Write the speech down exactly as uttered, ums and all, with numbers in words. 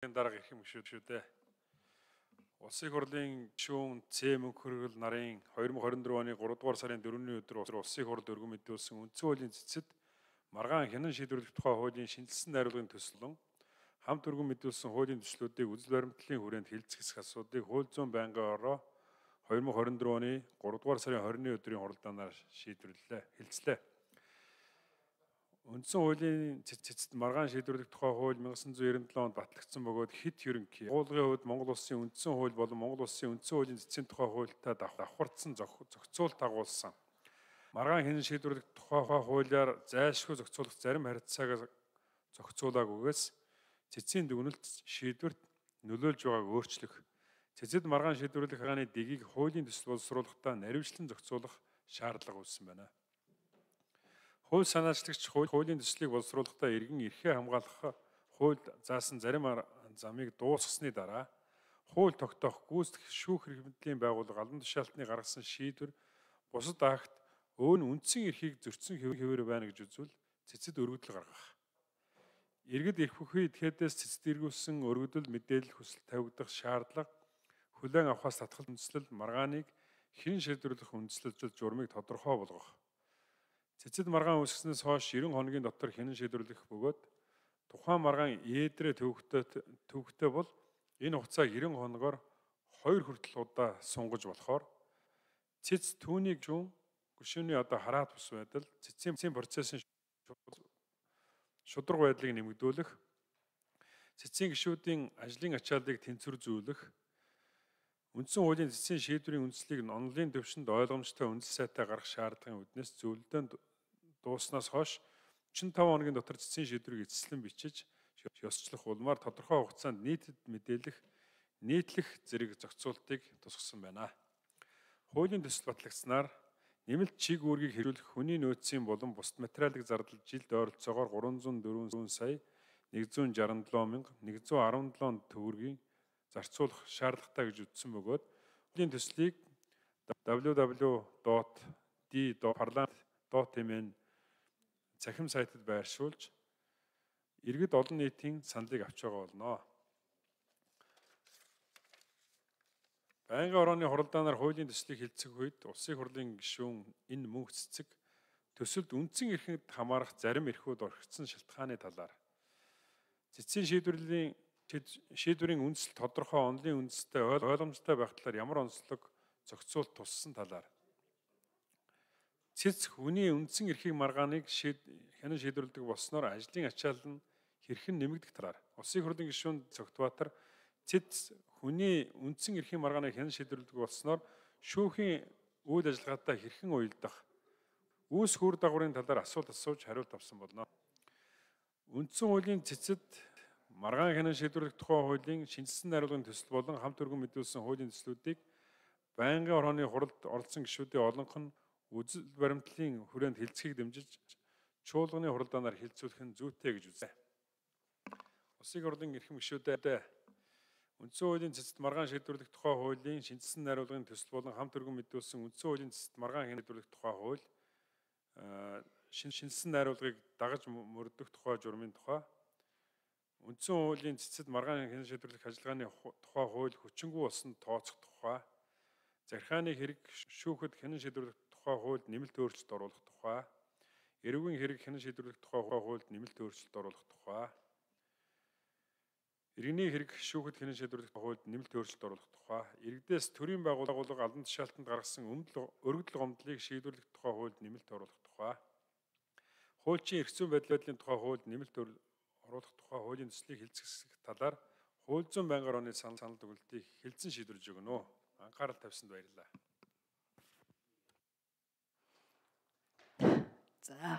Дарга их юм шүү дээ. Улсын их хурлын гишүүн Цэ Мөнх хөргөл нарын две тысячи двадцать четыре оны тhree дугаар сарын дөрөвний өдөр улсын их хурл өргөн мэдүүлсэн үндсэн хуулийн цэцэд маргаан хянан шийдвэрлэх тухай хуулийн шинжилсэн найруулгын төслөн хамт өргөн мэдүүлсэн хуулийн төслүүдийг үзэл баримтлалын хүрээнд хэлцэх асуудлыг хууль зүйн байнгын ороо две тысячи двадцать четыре оны three дугаар сарын twenty-ны өдрийн хуралдаанаар шийдвэрлэлээ, хэлцлээ. Үндсэн хуулийн цэцэд маргаан шийдвэрлэх тухай хууль nineteen ninety-seven онд батлагдсан бөгөөд хэд ерөнхий уулгын хувьд Монгол Улсын үндсэн хууль болон Монгол Улсын үндсэн хуулийн цэцгийн тухай хуультай давхардсан зохицуулт дагуулсан. Маргаан хянан шийдвэрлэх тухай хуулиар зайлшгүй зохицуулах зарим харилцааг зохицуулаагүйгээс цэцгийн дүгнэлт шийдвэрт нөлөөлж байгааг өөрчлөх, цэцэд маргаан шийдвэрлэх хааны дэгийг хуулийн төсөл боловсруулахдаа наривчлан зохицуулах шаардлага үүссэн байна. Хууль санаачлагч хуулийн төслийг боловсруулахдаа иргэн эрхээ хамгаалах хууль заасан зарим замыг дуусгасны дараа хууль тогтоох гүйцэтгэх шүүх эрхмэдлийн байгууллага албан тушаалтны гаргасан шийдвэр бусад акт өөн үндсэн эрхийг зөрчсөн хэвээр байна гэж үзвэл цэцэд өргөдөл гаргах. Иргэд эрх бүхий идэхээс цэцэд эргүүлсэн өргөдөл мэдээлэл хүсэлт тавигдах шаардлага хүлээн авахаас татгал үндэслэл маргааныг хэн шийдвэрлэх үндэслэлжил журмыг тодорхой болгох. Цэцэд маргаан үүсгэснээс хойш ninety хоногийн дотор хянан шийдвэрлэх бөгөөд тухайн маргаан ээдрээ төвөгтэй төвөгтэй бол энэ хугацааг ninety хоногоор two хүртэл удаа сунгаж болохоор цэц түүнийг жун гүшүүний одоо хараат бус байдал цэцгийн процессын шудраг байдлыг нэмэгдүүлэх, цэцгийн гишүүдийн ажлын ачааллыг тэнцвэрзүүлэх, үндсэн хуулийн цэцгийн шийдвэрийн үндслийг онлын төвшөнд ойлгомжтой үндс сайтай гаргах шаардлагын үүднээс зөвлөдөө дууснаас хойш forty-five хоногийн дотор цэцгийн шийдвэрийг эцэслэн бичиж ёсчлох улмаар тодорхой хугацаанд нийтэд мэдээлэх, нийтлэх зэрэг зохицуултыг тусгасан байна. Хуулийн төсөл батлагдсанаар нэмэлт чиг үүргийг хэрэглэх хүний нөөцийн болон бусад материалын зардал жилд ойролцоогоор three hundred four сая one hundred sixty-seven мянга one hundred seventeen төгрөгийн зарцуулах шаардлагатай гэж үзсэн бөгөөд хуулийн төслийг double-u double-u double-u dot d dot parliament dot m n цахим сайтад байршуулж иргэд олон нийтийн саналыг авч байгаа болно. Байнгын орооны хуралдаанаар хуулийн төслийг хэлцэх үед улсын хурлын гишүүн энэ мөнх цэцэг төсөлд үндсэн эрхэнд хамаарах зарим эрхүүд орхигдсон шалтгааны талаар цэцгийн шийдвэрлэлийн шийдвэрийн үндэслэл тодорхой онлын үндэстэй ойлгомжтой байх талаар ямар онцлог зохицуулт туссан талаар цэц хүний үндсэн эрхийг маргааныг хянан шийдвэрлэдэг болсноор ажлын ачаал нь хэрхэн нэмэгдэх талаар улсын хурлын гишүүн Цогтбаатар цэц хүний үндсэн эрхийн маргааныг хянан шийдвэрлэдэг болсноор шүүхийн үйл ажиллагаатай хэрхэн уялдах, үүс хүр дагаврын талаар асуулт асууж хариулт авсан болно. Үндсэн хуулийн цэцэд маргаан хянан шийдвэрлэх тухай хуулийн шинжилсэн найруулгын төсөл болон хамт өргөн мэдүүлсэн хуулийн төслүүдийг байнгын орооны хуралд оролцсон гишүүдийн олонх нь үзэл баримтлалын хүрээнд хэлцэхийг дэмжиж чуулганы хуралдаанаар хэлцүүлэх нь зүйтэй гэж үзье. Улсын хурлын эрхэм гишүүдээ үндсэн хуулийн цэцэд маргаан шийдвэрлэх тухай хуулийн шинжилсэн найруулгын төсөл болон хамт өргөн мэдүүлсэн үндсэн хуулийн цэцэд маргаан хянан шийдвэрлэх тухай хууль шинжилсэн найруулгыг дагаж мөрдөх тухай журмын тухай үндсэн хуулийн цэцэд маргаан хянан шийдвэрлэх ажиллагааны тухай хууль хүчингүй болсон тооцох тухай захиргааны хэрэг шүүхэд хянан шийдвэрлэх тухай хуульд нэмэлт өөрчлөлт оруулах тухай эрүүгийн хэрэг хянан шийдвэрлэх тухай хуульд нэмэлт өөрчлөлт оруулах тухай иргэний хэрэг шүүхэд хянан шийдвэрлэх хуульд нэмэлт өөрчлөлт оруулах тухай иргэдээс төрийн байгууллага албан тушаалтанд гаргасан өргөдөл гомдлыг шийдвэрлэх тухай хуульд нэмэлт оруулах тухай хуульчийн эрх зүйн байдлын тухай хуульд нэмэлт оруулах тухай хуулийн төслийг хэлцэх талаар хууль зүйн байнгын орооны санал дүгнэлтийг хэлцэн шийдвэрлэж өгнө. Анхаарал тавьсанд баярлалаа. За